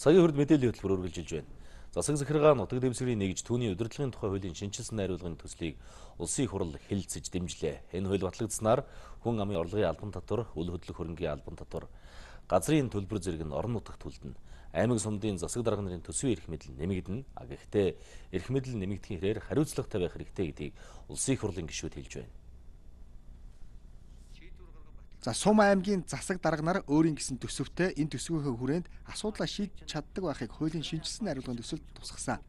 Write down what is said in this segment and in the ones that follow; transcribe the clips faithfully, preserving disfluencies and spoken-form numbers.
Цагийн хүрд мэдээллийн хөтөлбөр үргэлжилж байна. Засаг захиргаа нутаг дэвсгэрийн нэгж түүний удирдлагын тухай хуулийн шинжилсэн найруулгын төслийг улсын их хурл хэлэлцэж дэмжлээ. Энэ хууль батлагдсанаар хүн амын орлогын албан татвар, үл хөдлөх хөрөнгийн албан татвар, газрын төлбөр зэрэг нь орон нутагт хүлдэнэ. Аймаг сумдын засаг дарга нарын төсвийн эрх мэдэл нэмэгдэнэ. А гэхдээ эрх мэдэл нэмэгдэхийн хэрээр хариуцлагатай байх хэрэгтэй гэдгийг улсын их хурлын гишүүд хэлж байна. За Сум аймгийн засаг дарга нар өөрийн гэсэн төсөвтэй энэ төсвийнхөө хүрээнд асуудлаа шийдэж чаддаг байхыг хуулийн шинжилсэн найруулгын төсөлд тусгасан.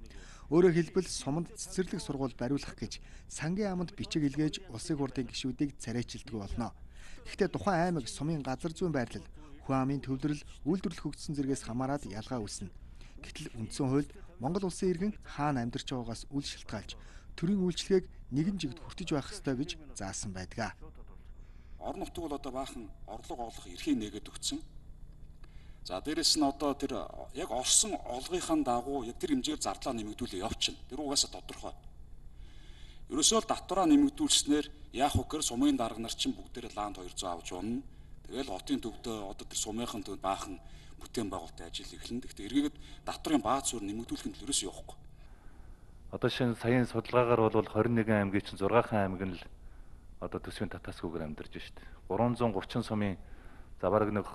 Өөрөөр хэлбэл Суманд цэцэрлэг сургууль бариулах гэж сангийн аманд бичиг илгээж улсын хурлын гишүүдийг царайчилдаг болно. Гэхдээ тухайн аймаг Сумын газар зүйн байрлал, хүн амын төвлөрөл, үйлдвэрлэл хөгжсөн зэрэгээс хамаарат ялгаа үүснэ. Гэтэл үндсэн хуульд Монгол улсын иргэн хаана амьдарч байгаагаас үл шалтгаалж төрийн үйлчлэгийг нэгэн жигд хүртэж байх ёстой гэж заасан байдаг. Орон нутаг бол одоо баахан орлого олох эрхийг нээгээд өгсөн. За дээрэс нь одоо тэр яг орсон олгынхаа дагуу яг тэр хэмжээгээр зардлаа нэмэгдүүлээ явчихна. Тэр угаасаа тодорхой. Ерөөсөө л татвараа нэмэгдүүлснээр яах вэ гэхээр сумын дарга нар чинь бүгдээрээ ланд хоёр зуун авч унна. Тэгэл хотын төвдөө одоо тэр сумынхан төвд баахан бүтээн байгуулалтын ажил эхэлнэ. Гэхдээ эргээгээд татварын бааз суурь нэмэгдүүлэх нь ерөөсөө явахгүй. Одоо шинэ саяын судалгаагаар бол хорин нэгэн аймгийн чинь зургаахан аймаг нь л одоо төсвийн татаасгүйгээр амьдарч штт. гурван зуун гурван сумын за бараг нэг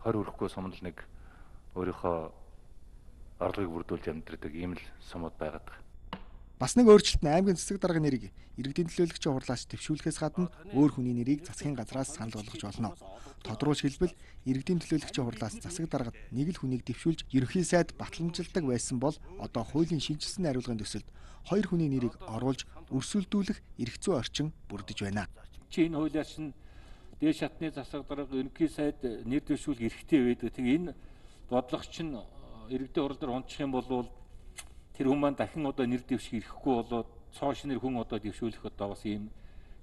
хорь хүрэхгүй сум л нэг өөрийнхөө орлогыг бүрдүүлж амьдардаг ийм л сумууд байгаад байна. Бас нэг өөрчлөлт нь аймгийн засаг дарга нэрийг иргэдийн төлөөлөгчийн хурлаас дэвшүүлэхээс гадна өөр хүний нэрийг засгийн газраас санал болгож болно. Тодруулж хэлбэл иргэдийн төлөөлөгчийн хурлаас засаг даргад нэг л хүнийг дэвшүүлж ерөнхий сайд батламжилдаг байсан бол одоо хуулийн шинжилсэн найруулгын төсөлд хоёр хүний нэрийг оруулж өрсөлдүүлэх эрх зүйн орчин бүрдэж байна. Чи энэ хуулиар чинь дээд шатны засаг дарга ерөнхий сайд нэр дэвшүүлэх эрхтэй байдаг. Тэгээ энэ бодлогоч нь иргэдийн хурал дээр унчих юм бол тэр хүн маань дахин одоо нэр дэвших эрхгүй болоод цоош нэр хүн одоо дэвшүүлэх одоо бас ийм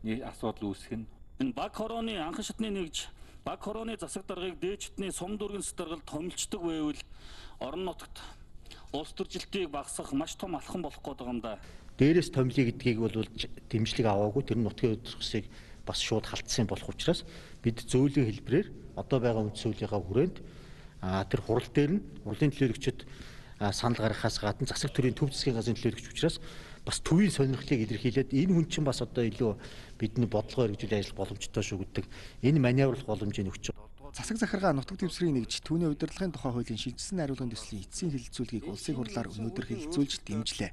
асуудал үүсгэн. Энэ баг хорооны анхан шатны нэгж баг хорооны засаг даргыг дээд шатны сум дүүргийн засаг даргад томилчдаг байвал орон нутагт улс төржилтийг багасгах маш том алхам болох гээд байгаа юм да. Дээрээс томилъя гэдгийг бол дэмжлэг аваагүй тэр нутгийн удирдлагыг бас шууд халтсан болох учраас бид зөүлийн хэлбэрээр одоо байгаа үндсэн хуулийнхаа хүрээнд тэр хурал дээр нь хурлын төлөөлөгчд санал гаргахаас гадна засаг төрийн төв засгийн газрын төлөөлөгч учраас бас төвийн сонирхлыг илэрхийлээд энэ хүн чинь бас одоо илүү бидний бодлогоо хэрэгжүүлэх ажил боломжтой шүү гэдэг энэ маневрлах боломжийг өгч байгаа. Засаг захиргаа нутаг дэвсгэрийн нэгж түүний удирдлагын тухай хуулийн шинжилсэн найруулгын төслийн эцсийн хэлэлцүүлгийг улсын хурлаар өнөөдөр хэлэлцүүлж дэмжлээ.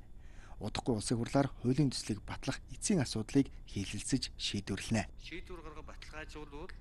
Удахгүй улсын хурлаар хуулийн төслийг батлах эцсийн асуудлыг хэлэлцэж шийдвэрлэнэ. Шийдвэр гаргах баталгаажуулбал